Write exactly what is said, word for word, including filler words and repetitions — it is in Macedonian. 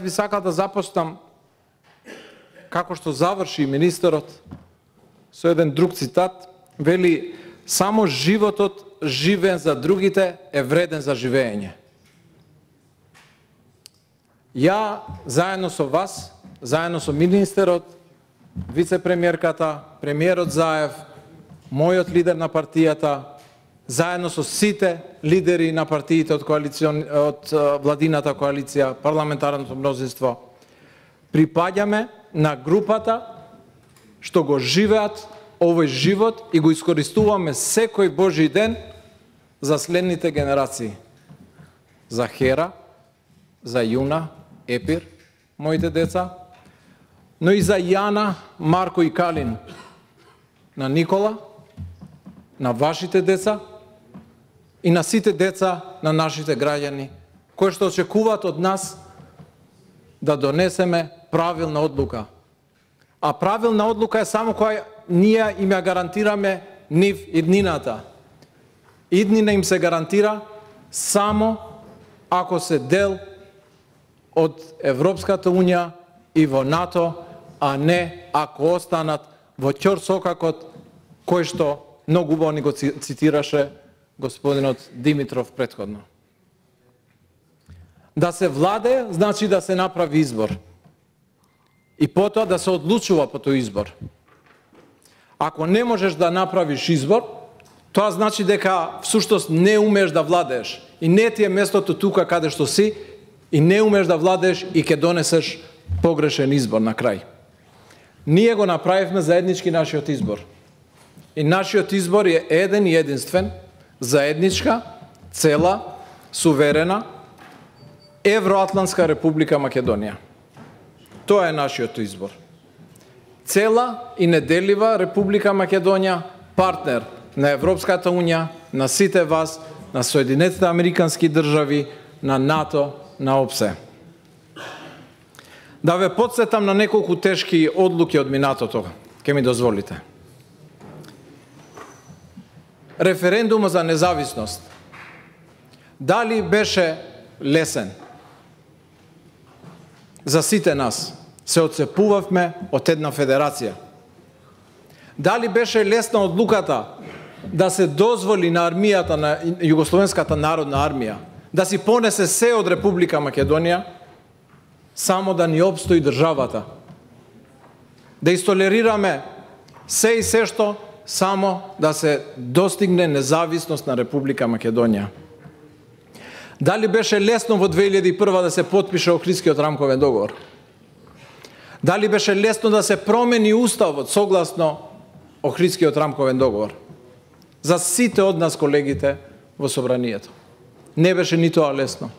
Би сакал да започнам како што заврши министерот со еден друг цитат, вели: само животот живеен за другите е вреден за живење. Ја заедно со вас, заедно со министерот, вице-премиерката, премиерот Заев, мојот лидер на партијата, заедно со сите лидери на партиите од коалицион од владината коалиција, парламентарното мнозинство, припаѓаме на групата што го живеат овој живот и го искористуваме секој Божи ден за следните генерации. За Хера, за Јуна, Епир, моите деца, но и за Јана, Марко и Калин, на Никола, на вашите деца и на сите деца на нашите граѓани, кои што очекуваат од нас да донесеме правилна одлука. А правилна одлука е само која ние им ја гарантираме нив иднината. Иднина им се гарантира само ако се дел од Европската Унија и во НАТО, а не ако останат во ќорсокакот кој што многу убаво ни го цитираше господинот Димитров претходно. Да се владе, значи да се направи избор. И потоа да се одлучува по тој избор. Ако не можеш да направиш избор, тоа значи дека всуштост не умееш да владееш. И не ти е местото тука каде што си, и не умееш да владееш и ќе донесеш погрешен избор на крај. Ние го направивме заеднички нашиот избор. И нашиот избор е еден и единствен, заедничка, цела, суверена, Евроатлантска република Македонија. Тоа е нашиот избор. Цела и неделива Република Македонија, партнер на Европската Унија, на сите вас, на Соединетите Американски држави, на НАТО, на ОПСЕ. Да ве потсетам на неколку тешки одлуки од минатото, ке ми дозволите. Референдумот за независност. Дали беше лесен? За сите нас. Се отцепувавме од една федерација. Дали беше лесна одлуката да се дозволи на армијата, на Југословенската народна армија, да си понесе се од Република Македонија, само да ни опстои државата? Да истолерираме се и се што, само да се достигне независност на Република Македонија? Дали беше лесно во две илјади и прва да се потпише Охридскиот рамковен договор? Дали беше лесно да се промени уставот согласно Охридскиот рамковен договор? За сите од нас, колегите во собранието. Не беше ни тоа лесно.